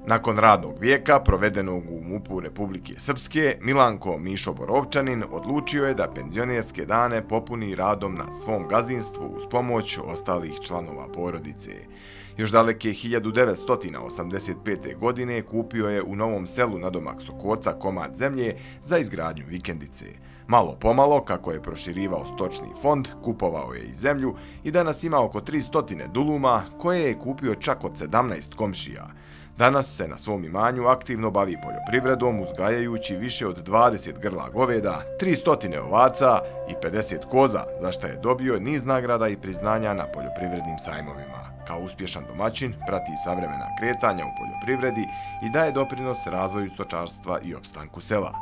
Nakon radnog vijeka provedenog u MUP-u Republike Srpske, Milanko Mišo Borovčanin odlučio je da penzionerske dane popuni radom na svom gazdinstvu uz pomoć ostalih članova porodice. Još daleke 1985. godine kupio je u Novom Selu nadomak Sokoca komad zemlje za izgradnju vikendice. Malo pomalo, kako je proširivao stočni fond, kupovao je i zemlju i danas ima oko 300 duluma koje je kupio čak od 17 komšija. Danas se na svom imanju aktivno bavi poljoprivredom, uzgajajući više od 20 grla goveda, 300 ovaca i 50 koza, za što je dobio niz nagrada i priznanja na poljoprivrednim sajmovima. Kao uspješan domaćin prati savremena kretanja u poljoprivredi i daje doprinos razvoju stočarstva i opstanku sela.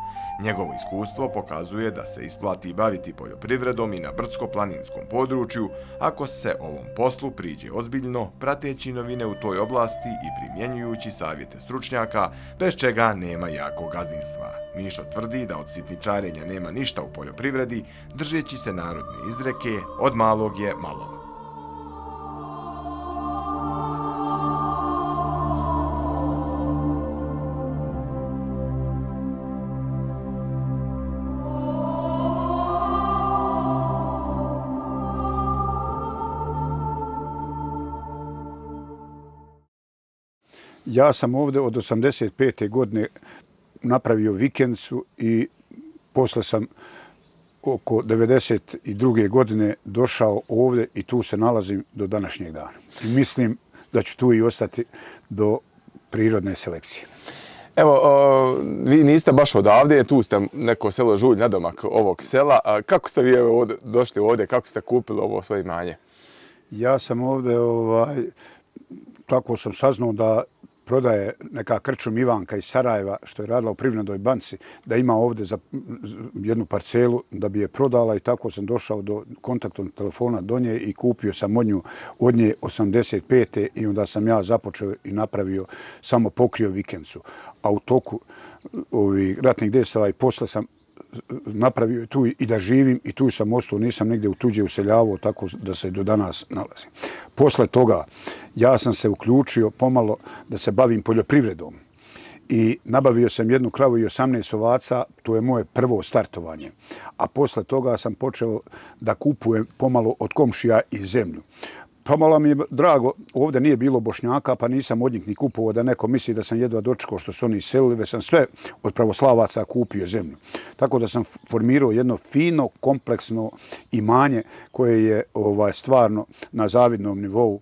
Njegovo iskustvo pokazuje da se isplati baviti poljoprivredom i na brdsko-planinskom području ako se ovom poslu priđe ozbiljno, prateći novine u toj oblasti i primjenjujući savjete stručnjaka, bez čega nema jakog gazdinstva. Mišo tvrdi da od sitničarenja nema ništa u poljoprivredi, držeći se narodne izreke "od malog je malo". Ja sam ovdje od 1985. godine napravio vikendicu i posle sam oko 1992. godine došao ovdje i tu se nalazim do današnjeg dana. I mislim da ću tu i ostati do prirodne selekcije. Evo, vi niste baš odavde, tu ste neko selo Žulj, nadomak ovog sela. Kako ste vi došli ovdje, kako ste kupili ovo svoje imanje? Ja sam ovdje, tako sam saznao da prodaje neka krčum Ivanka iz Sarajeva, što je radila u Privrednoj banci, da ima ovdje za jednu parcelu da bi je prodala i tako sam došao do kontaktnog telefona do nje i kupio sam od nje 85. i onda sam ja započeo i napravio, samo pokrio vikendicu. A u toku ovih ratnih dejstava i posle sam napravio tu i da živim i tu sam ostao, nisam negdje u tuđe useljavao, tako da se do danas nalazim. Posle toga ja sam se uključio pomalo da se bavim poljoprivredom i nabavio sam jednu kravu i 18 ovaca, to je moje prvo startovanje. A posle toga sam počeo da kupujem pomalo od komšija i zemlju. Pomalo mi je drago, ovdje nije bilo Bošnjaka, pa nisam od njih ni kupovao da neko misli da sam jedva dočekao što su oni iselili, već sam sve od pravoslavaca kupio zemlju. Tako da sam formirao jedno fino, kompleksno imanje koje je stvarno na zavidnom nivou.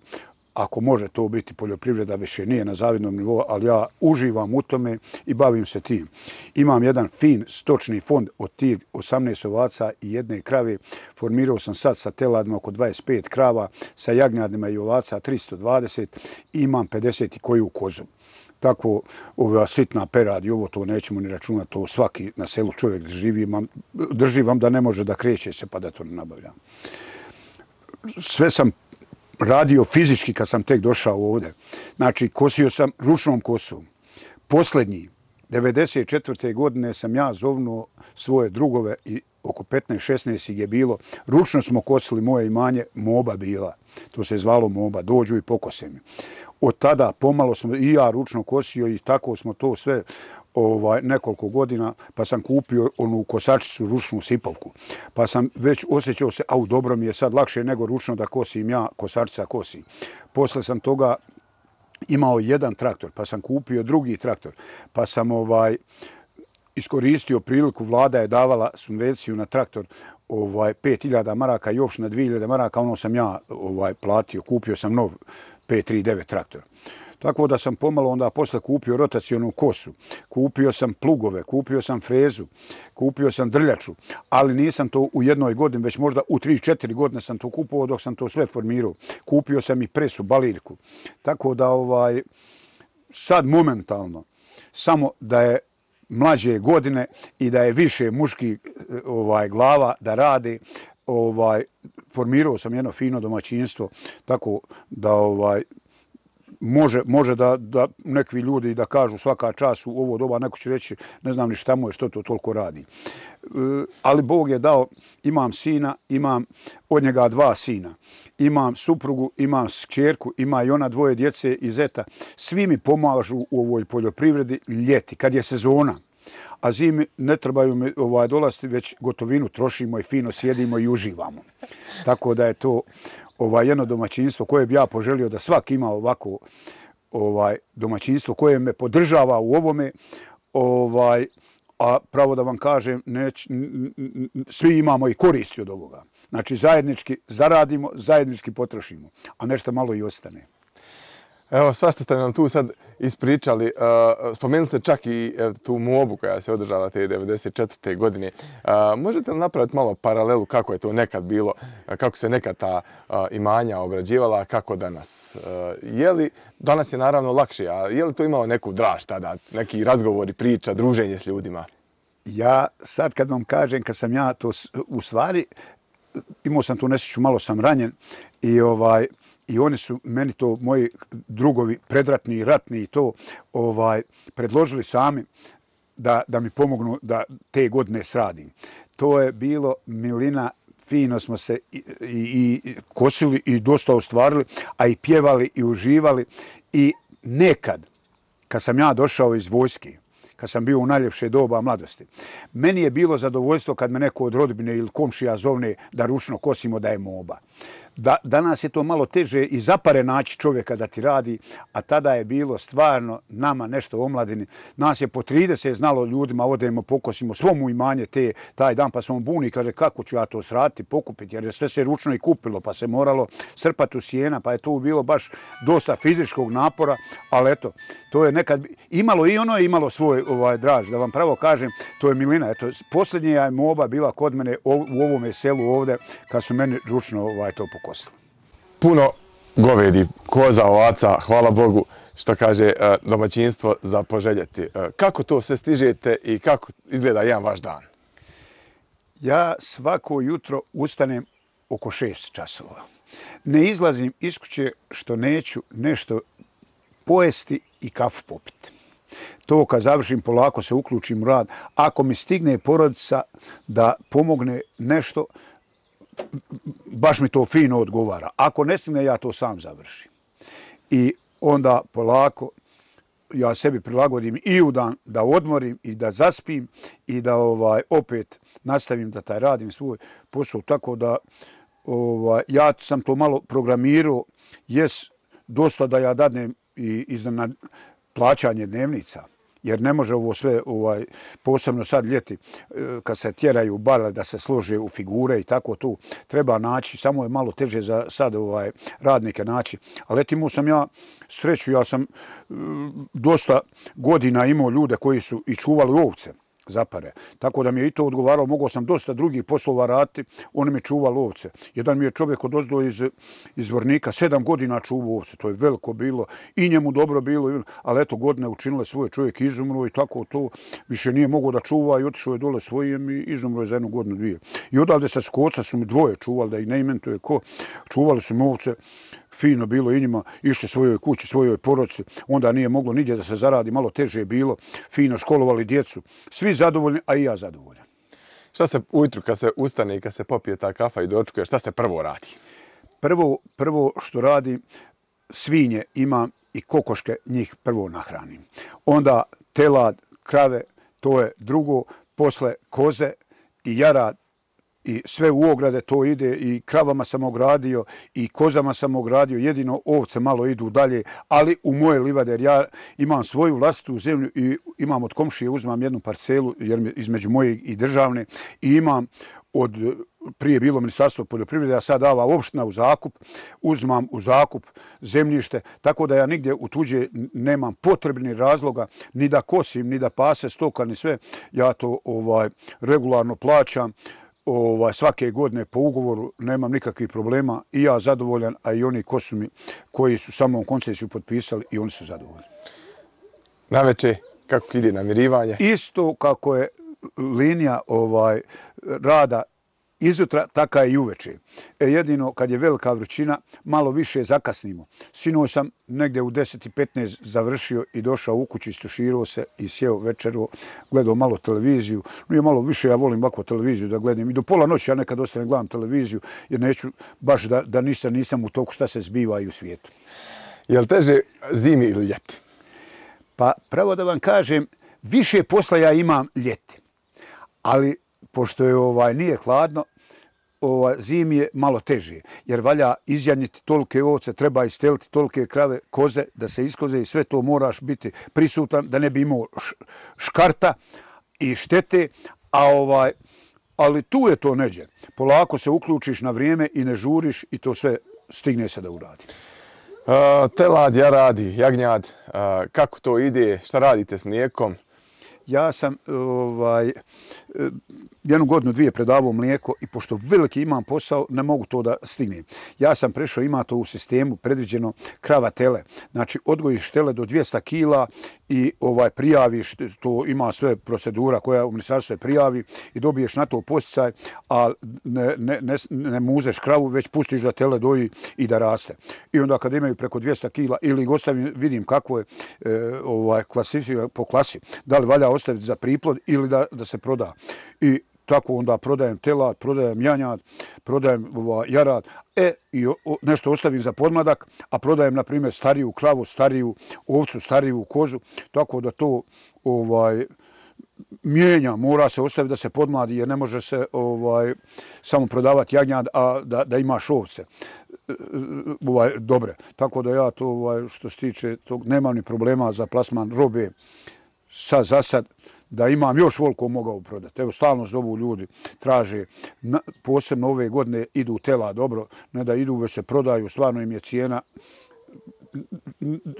Ako može to biti poljoprivreda, više nije na zavidnom nivou, ali ja uživam u tome i bavim se tim. Imam jedan fin stočni fond od tih 18 ovaca i jedne krave. Formirao sam sad sa teladima oko 25 krava, sa jagnjadima i ovaca 320 i imam 50 i koju kozu. Tako, ova sitna perad i ovo to nećemo ni računati, to svaki na selu čovjek drži vam da ne može da kreće se pa da to ne nabavljam. Sve sam radio fizički kad sam tek došao ovdje. Znači, kosio sam ručnom kosom. Posljednji, 1994. godine sam ja zovnuo svoje drugove i oko 15-16 ih je bilo. Ručno smo kosili moje imanje, moba bila. To se je zvalo moba, dođu i pokose mi. Od tada pomalo smo i ja ručno kosio i tako smo to sve nekoliko godina, pa sam kupio onu kosačicu, ručnu sipovku. Pa sam već osjećao se, dobro mi je sad lakše nego ručno da kosim ja, kosačica kosi. Posle sam toga imao jedan traktor, pa sam kupio drugi traktor, pa sam iskoristio priliku, vlada je davala subvenciju na traktor 5.000 maraka, još na 2.000 maraka, ono sam ja platio, kupio sam nov 539 traktor. Tako da sam pomalo onda posle kupio rotacionu kosu, kupio sam plugove, kupio sam frezu, kupio sam drljaču, ali nisam to u jednoj godini, već možda u 3-4 godine sam to kupovao dok sam to sve formirao. Kupio sam i presu, baliljku. Tako da sad momentalno, samo da je mlađe godine i da je više muških glava da rade, formirao sam jedno fino domaćinstvo, tako da može da neki ljudi da kažu svaka čast u ovo doba, neko će reći ne znam ni šta mu je, što to toliko radi. Ali Bog je dao, imam sina, imam od njega 2 sina. Imam suprugu, imam kćerku, ima i ona 2 djece i zeta. Svi mi pomažu u ovoj poljoprivredi ljeti, kad je sezona. A zimi ne trebaju mi dolaziti, već gotovinu trošimo i fino sjedimo i uživamo. Tako da je to jedno domaćinstvo koje bi ja poželio da svaki ima ovako domaćinstvo koje me podržava u ovome. A pravo da vam kažem, svi imamo i koristi od ovoga. Znači zajednički zaradimo, zajednički potrošimo, a nešto malo i ostane. Evo, svašta ste nam tu sad ispričali. Spomenuli ste čak i tu mobu koja se održala te 1994. godine. Možete li napraviti malo paralelu kako je to nekad bilo, kako se nekad ta imanja obrađivala, a kako danas? Danas je naravno lakše, a je li to imalo neku draž tada, neki razgovori, priča, druženje s ljudima? Ja sad kad vam kažem, kad sam ja to u stvari, imao sam tu nesreću, malo sam ranjen i oni su meni to, moji drugovi predratni i ratni i to predložili sami da mi pomognu da te godine sradim. To je bilo milina, fino smo se i kosili i dosta ostvarili, a i pjevali i uživali. I nekad, kad sam ja došao iz vojske, kad sam bio u najljepše doba mladosti, meni je bilo zadovoljstvo kad me neko od rodbine ili komšija zovne da ručno kosimo, da je moba. Danas je to malo teže i zapare naći čovjeka da ti radi, a tada je bilo stvarno nama nešto u omladini. Nas je po 30 znalo ljudima, odemo, pokosimo svomu imanje taj dan, pa se on buni i kaže kako ću ja to sraditi, pokupiti, jer je sve se ručno i kupilo, pa se moralo srpati u sjena, pa je tu bilo baš dosta fizičkog napora, ali eto, to je nekad imalo i ono je imalo svoj draž, da vam pravo kažem, to je milina. Eto, posljednja je moba bila kod mene u ovome selu ovdje, kad su meni ručno to pokosili. Puno govedi, koza, ovaca, hvala Bogu, što kaže domaćinstvo za poželjeti. Kako to sve stižete i kako izgleda jedan vaš dan? Ja svako jutro ustanem oko 6 časova. Ne izlazim iz kuće što neću nešto pojesti i kafu popiti. To kad završim polako se uključim u rad. Ako mi stigne porodica da pomogne nešto, baš mi to fino odgovara. Ako ne stigne, ja to sam završim. I onda polako ja sebi prilagodim i u dan da odmorim i da zaspim i da opet nastavim da taj radim svoj posao. Tako da ja sam to malo programirao. Dosta da ja dadnem i na plaćanje dnevnica. Jer ne može ovo sve, posebno sad ljeti, kad se tjeraju bale da se slože u figure i tako tu, treba naći, samo je malo teže za sad radnike naći. Ali imao sam ja sreću, ja sam dosta godina imao ljude koji su i čuvali ovce zapare. Tako da mi je i to odgovaralo, mogao sam dosta drugih poslova raditi, oni mi čuvali ovce. Jedan mi je čovjek odozdo iz Vornika, 7 godina čuvao ovce, to je veliko bilo i njemu dobro bilo, ali eto godine učinile svoje, čovjek izumro i tako to više nije mogao da čuva i otišao je dole svojem i izumro je za 1 godinu, 2. I odavde sa Skoca su mi 2 čuvali, da ih ne imentuje ko, čuvali su mi ovce. Fino bilo i njima, išli svojoj kući, svojoj porodici, onda nije moglo nigdje da se zaradi, malo teže je bilo, fino školovali djecu, svi zadovoljni, a i ja zadovoljan. Šta se ujutru kad se ustane i kad se popije ta kafa i dočekuje, šta se prvo radi? Prvo što radim, svinje imam i kokoške, njih prvo nahranim. Onda telad, krave, to je drugo, posle koze i jarad, i sve u ograde to ide i kravama sam ogradio i kozama sam ogradio, jedino ovce malo idu dalje, ali u moje livade, jer ja imam svoju vlastitu zemlju i imam od komšije, uzmam 1 parcelu jer između moje i državne i imam prije bilo Ministarstvo poljoprivrede, a sad dava opština u zakup, uzmam u zakup zemljište, tako da ja nigdje u tuđe nemam potrebnih razloga ni da kosim, ni da pase stoka, ni sve. Ja to regularno plaćam. Svake godine po ugovoru nemam nikakvih problema i ja zadovoljan, a i oni koji su samom koncesiju potpisali i oni su zadovoljni. Naveče, kako ide namirivanje? Isto kako je linija rada izutra, taka je i uveče. Jedino kad je velika vrućina, malo više zakasnimo. Sinoć sam negdje u 10:15 završio i došao u kuću, istuširao se i sjeo večeru, gledao malo televiziju. Nije malo više, ja volim ovako televiziju da gledam. I do pola noći ja nekad ostanem gledam televiziju, jer neću baš da nisam u toku šta se zbiva i u svijetu. Je li teže zimi ili ljeti? Pa pravo da vam kažem, više posla ja imam ljeti. Ali pošto je nije hladno, zimi je malo teže, jer valja izjanjiti tolike ovce, treba isteliti tolike krave, koze, da se iskoze i sve to moraš biti prisutan, da ne bi imao škarta i štete, ali tu je to neđe. Polako se uključiš na vrijeme i ne žuriš i to sve stigne se da uradi. Telad, jaradi, jagnjad, kako to ide, šta radite s mlijekom? Ja sam 1 godinu, 2 predavao mlijeko i pošto veliki imam posao, ne mogu to da stignem. Ja sam prešao, ima to u sistemu predviđeno krava tele. Znači, odgojiš tele do 200 kila i prijaviš, to ima sve procedura koja u ministarstvu se prijavi i dobiješ na to posticaj, a ne muzeš kravu, već pustiš da tele doji i da raste. I onda kad imaju preko 200 kila ili ih ostavim, vidim kako je po klasi, da li valja ostaviti za priplod ili da se proda. I tako onda prodajem telad, prodajem janjad, prodajem jarad, i nešto ostavim za podmladak, a prodajem, na primjer, stariju kravu, stariju ovcu, stariju kozu, tako da to mijenja, mora se ostaviti da se podmladi, jer ne može se samo prodavati jagnjad, a da imaš ovce dobre. Tako da ja to, što se tiče tog, nemam ni problema za plasman robe za sad, da imam još voliko mogao prodati. Evo, stalno zovu ljudi, traže, posebno ove godine idu tela dobro, ne da idu, već se prodaju, stvarno im je cijena,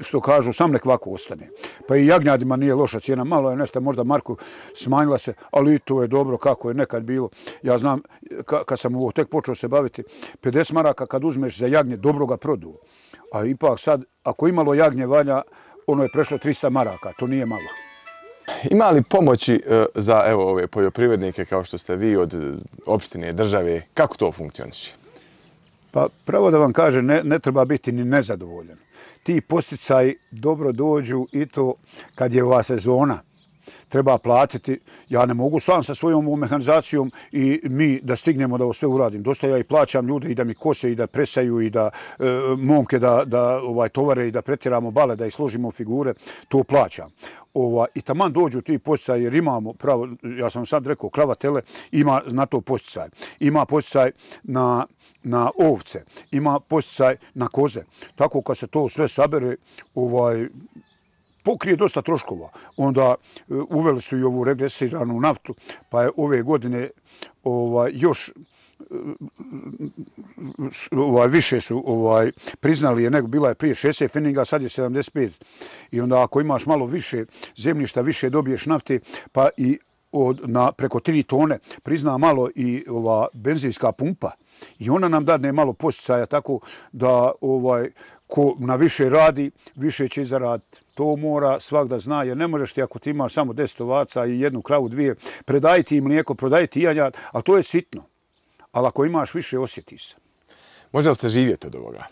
što kažu, sam nek ovako ostane. Pa i jagnjadima nije loša cijena, malo je nešto, možda marku smanjila se, ali i to je dobro kako je nekad bilo. Ja znam, kad sam ovo tek počeo se baviti, 50 maraka kad uzmeš za jagnje, dobro ga produ. A ipak sad, ako imalo jagnje valja, ono je prešlo 300 maraka, to nije malo. Ima li pomoći za ove poljoprivrednike kao što ste vi od opštine, države? Kako to funkcioniše? Pa pravo da vam kažem, ne treba biti ni nezadovoljan. Ti posticaji dobro dođu i to kad je ova sezona. Treba platiti. Ja ne mogu sam sa svojom mehanizacijom i mi da stignemo da ovo sve uradim. Dosta ja i plaćam ljude i da mi kose i da presaju i da momke da tovare i da pretjeramo bale, da ih složimo figure. To plaćam. I taman dođu ti posticaji jer imamo pravo, ja sam sad rekao, krava tele ima na to posticaj. Ima posticaj na ovce, ima posticaj na koze. Tako kad se to sve sabere, pokrije dosta troškova. Onda uveli su i ovu regresiranu naftu, pa je ove godine još više su priznali, nego bila je prije 60 pfenninga, sad je 75. I onda ako imaš malo više zemljišta, više dobiješ nafte, pa i preko 3 tone prizna malo i ova benzinska pumpa. I ona nam dadne malo posticaja, tako da ko na više radi, više će zaraditi. To mora svak da zna, jer ne možeš ti ako ti imaš samo 10 ovaca i 1 kravu, 2, predajti im mlijeko, prodajti janjad, ali to je sitno. Ali ako imaš više, osjetiš se. Može li se živjeti od ovoga?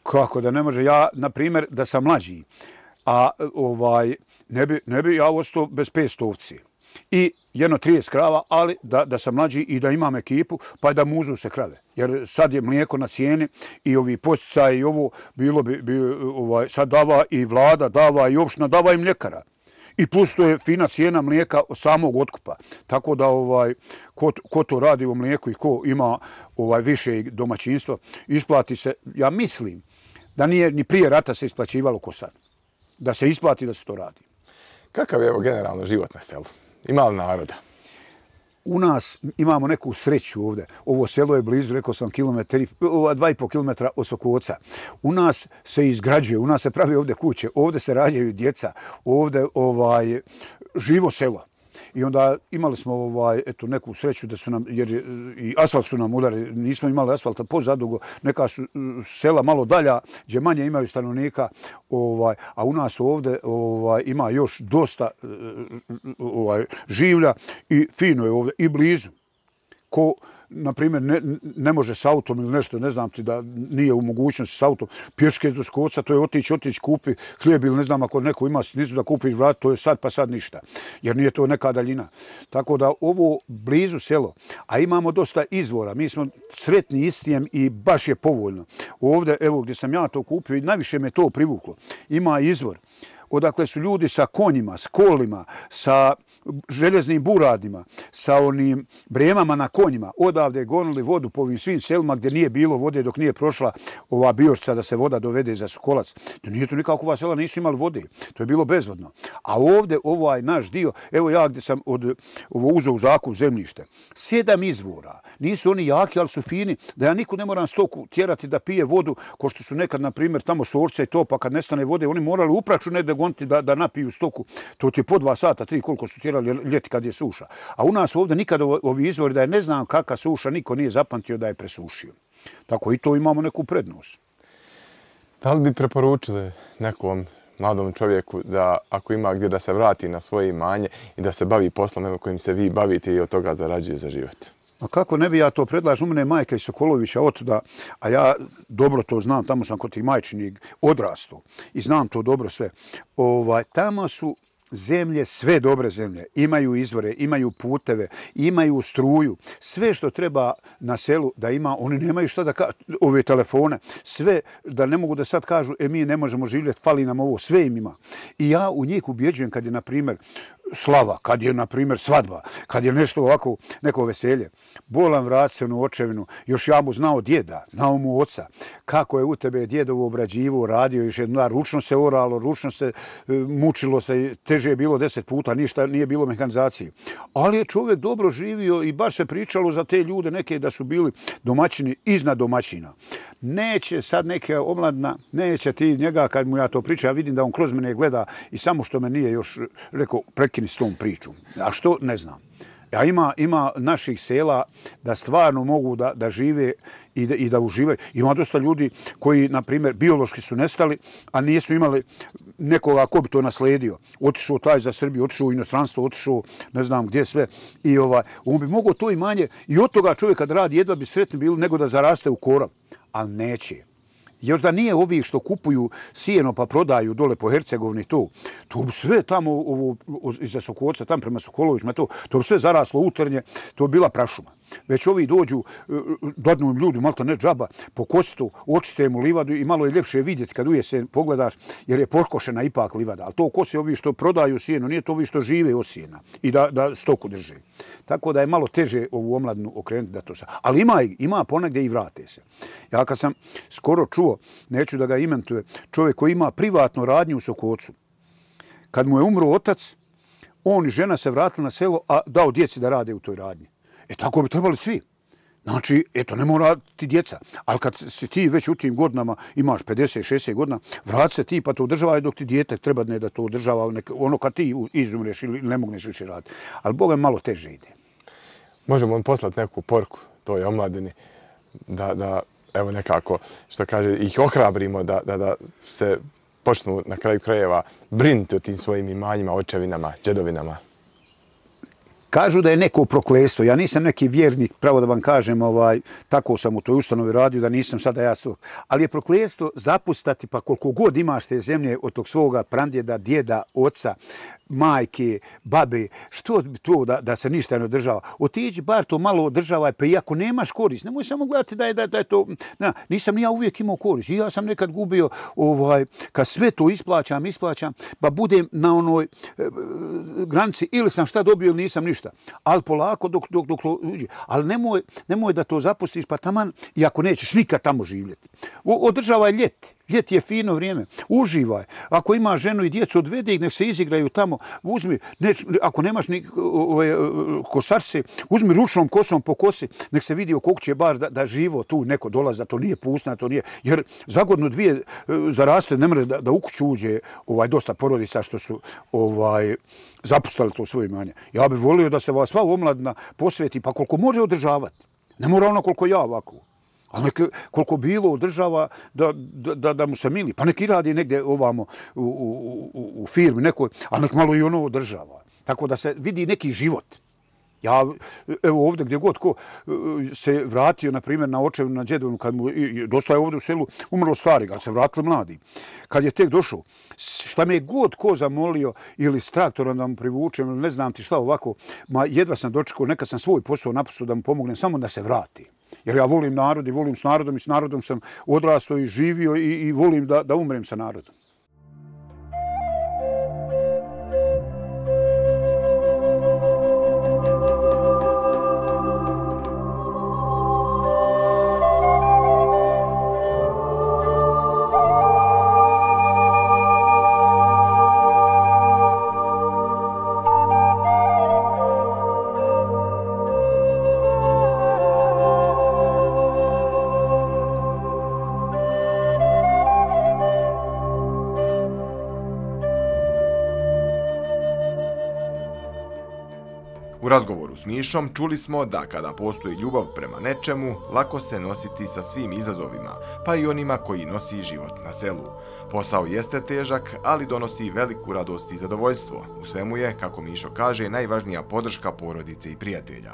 Kako da ne može? Ja, na primjer, da sam mlađi, a ne bi ja ostao bez 500 ovci. I 30 krava, ali da sam mlađi i da imam ekipu, pa da muzu se krave. Jer sad je mlijeko na cijeni i ovi posticaji i ovo, bilo bi sad dava i vlada, dava i opština, dava i mljekara. I plus to je fina cijena mlijeka samog otkupa. Tako da ko to radi u mlijeku i ko ima više domaćinstva, isplati se, ja mislim, da nije ni prije rata se isplaćivalo ko sad. Da se isplati da se to radi. Kakav je generalno život na selu? Ima li naroda? U nas imamo neku sreću ovdje. Ovo selo je blizu, rekao sam, 2,5 kilometra od Sokoca. U nas se izgrađuje, u nas se pravi ovdje kuće, ovdje se rađaju djeca, ovdje živo selo. I onda imali smo neku sreću da su nam, jer i asfalt su nam udari, nismo imali asfalta pozadugo, neka su sela malo dalja, gdje manje imaju stanovnika, a u nas ovdje ima još dosta življa i fino je ovdje i blizu. na primjer, ne može s autom ili nešto, ne znam ti da nije u mogućnosti s autom, pješke do Skoca, to je otići, kupi hlijeb ili ne znam ako neko ima snizu da kupiš vrat, to je sad pa sad ništa, jer nije to neka daljina. Tako da ovo blizu selo, a imamo dosta izvora, mi smo sretni istijem i baš je povoljno. Ovdje, evo gdje sam ja to kupio i najviše me to privuklo, ima izvor odakle su ljudi sa konjima, s kolima, sa željeznim buradima, sa onim bremama na konjima, odavde gonili vodu po ovim svim selima gdje nije bilo vode dok nije prošla ova biošca da se voda dovede za Sokolac. To nije to nikako, ova sela nisu imali vode, to je bilo bezvodno. A ovdje ovaj naš dio, evo ja gdje sam ovo uzeo u zakup zemljište, 7 izvora, nisu oni jaki, ali su fini, da ja nikud ne moram stoku tjerati da pije vodu, ko što su nekad, na primjer, tamo Sorca i to, pa kad nestane vode, oni morali upraću negdje goniti da napiju stoku, to ti je po 2 sata, 3, koliko su tjerali ljeti kad je suša. A u nas ovdje nikad ovi izvori da je ne znam kakva suša, niko nije zapamtio da je presušio. Tako i to imamo neku prednost. Da li bi preporučili nekom mladom čovjeku da ako ima gdje da se vrati na svoje imanje i da se bavi poslom kojim se vi bavite i od toga zarađuje za život? A kako ne bi ja to predlažem? U mene je majka iz Sokolovića otuda, a ja dobro to znam, tamo sam kod tih majčinih odrastao i znam to dobro sve. Tamo su zemlje, sve dobre zemlje, imaju izvore, imaju puteve, imaju struju, sve što treba na selu da ima, oni nemaju šta da ove telefone, sve da ne mogu da sad kažu, mi ne možemo živjeti, fali nam ovo, sve im ima. I ja u njih ubjeđujem kad je, na primjer, slava, kad je, na primjer, svadba, kad je nešto ovako, neko veselje. Bolan vrat se u očevinu, još ja mu znao djeda, znao mu oca, kako je u tebe djedovo obrađivo, radio još jedna, ručno se oralo, ručno se mučilo se, teže je bilo 10 puta, ništa nije bilo mehanizacije. Ali je čovjek dobro živio i baš se pričalo za te ljude neke da su bili domaćini iznad domaćina. Neće sad neka omladna, neće ti njega kad mu ja to pričam, ja vidim da on kroz mene gleda i samo što me nije još rekao prekini s tom pričom. A što, ne znam. A ima naših sela da stvarno mogu da žive i da uživaju. Ima dosta ljudi koji, na primjer, biološki su nestali, a nisu imali nekoga ko bi to nasledio. Otišao taj za Srbiju, otišao u inostranstvo, otišao ne znam gdje sve. I on bi mogao to imanje i od toga čovjek kad radi jedva bi sretni bili nego da zaraste u korov. Ali neće. Još da nije ovih što kupuju sijeno pa prodaju dole po Hercegovini to bi sve tamo iza Sokolca, tam prema Sokolovićima, to bi sve zaraslo utrnje, to bi bila prašuma. Već ovi dođu, dodnu im ljudi, malo ne džaba, pokosi to, očiste mu livadu i malo je ljepše vidjeti kad ujesen pogledaš, jer je pokošena ipak livada. Ali to kosi ovi što prodaju sijeno, nije to ovi što žive od sijena i da stoku drže. Tako da je malo teže ovu omladnu okrenuti da to sad. Ali ima ponegdje i vrate se. Ja kad sam skoro čuo, neću da ga imentuje, čovjek koji ima privatno radnju u Sokolcu, kad mu je umro otac, on i žena se vratili na selo, a dao djeci da rade u toj radnji. Tako bi trebali svi. Znači, ne mora ti djeca. Ali kad si ti već u tim godinama, imaš 50-60 godina, vrati se ti pa to održavaj dok ti dijete treba da to održava ono kad ti izumreš ili ne mogneš više raditi. Ali Boga malo teže ide. Možemo poslati neku poruku toj omladini da evo nekako, što kaže, ih ohrabrimo da se počnu na kraju krajeva brinuti o tim svojim imanjima, očevinama, djedovinama. Kažu da je neko prokletstvo. Ja nisam neki vjernik, pravo da vam kažem, tako sam u toj ustanovi radio da nisam sada ja svog. Ali je prokletstvo zapustati pa koliko god imaš te zemlje od tog svoga prandjeda, djeda, oca, majke, babe, što to da se ništa ne održava. Otiđi bar to malo održavaj, pa i ako nemaš korist, nemoj samo gledati da je to... Nisam ni ja uvijek imao korist. I ja sam nekad gubio, kad sve to isplaćam, pa budem na onoj granici ili sam šta dobio ili nisam ništa. Ali polako dok to uđe. Ali nemoj da to zapustiš, pa taman, i ako nećeš nikad tamo živjeti. Održavaj ljeti. Ljeti je fino vrijeme. Uživaj. Ako ima ženu i djecu, odvede ih, nek se izigraju tamo. Uzmi, ako nemaš ni kosarce, uzmi ručnom kosom po kosi, nek se vidi oko kuće bar da živo tu neko dolazi, da to nije pustina, to nije. Jer za godinu dvije zaraste, ne mre da u kuću uđe dosta porodica što su zapustali to svoje imanje. Ja bih volio da se sva omladina posveti, pa koliko može održavati. Ne mora ono koliko ja ovako. Ali koliko bilo održava da mu se mili. Pa neki radi negdje ovamo u firmi nekoj, ali nek malo i ono održava. Tako da se vidi neki život. Ja, evo ovdje gdje god ko se vratio, na primjer, na očevinu, na djedovinu, kad mu dosta je ovdje u selu umrlo starih, ali se vratili mladi. Kad je tek došao, šta me je god ko zamolio ili s traktorom da mu privučem, ili ne znam ti šta ovako, ma jedva sam dočekao, nekad sam svoj posao napustio da mu pomognem, samo da se vrati. Jer ja volim narod i volim s narodom i s narodom sam odrastao i živio i volim da umrem sa narodom. U razgovoru s Mišom čuli smo da kada postoji ljubav prema nečemu, lako se nositi sa svim izazovima, pa i onima koji nosi život na selu. Posao jeste težak, ali donosi veliku radost i zadovoljstvo. U svemu je, kako Mišo kaže, najvažnija podrška porodice i prijatelja.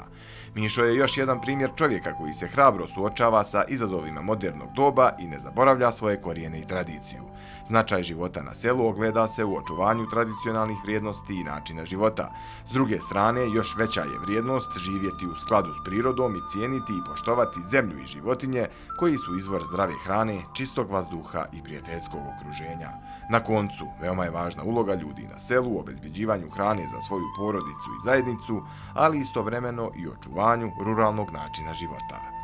Mišo je još jedan primjer čovjeka koji se hrabro suočava sa izazovima modernog doba i ne zaboravlja svoje korijene i tradiciju. Značaj života na selu ogleda se u očuvanju tradicionalnih vrijednosti i načina života. S druge strane, još veća je vrijednost živjeti u skladu s prirodom i cijeniti i poštovati zemlju i životinje koji su izvor zdrave hrane, čistog vazduha i prijateljskog okruženja. Na koncu, veoma je važna uloga ljudi na selu u obezbeđivanju hrane za svoju porodicu i zajednicu, ali istovremeno i očuvanju ruralnog načina života.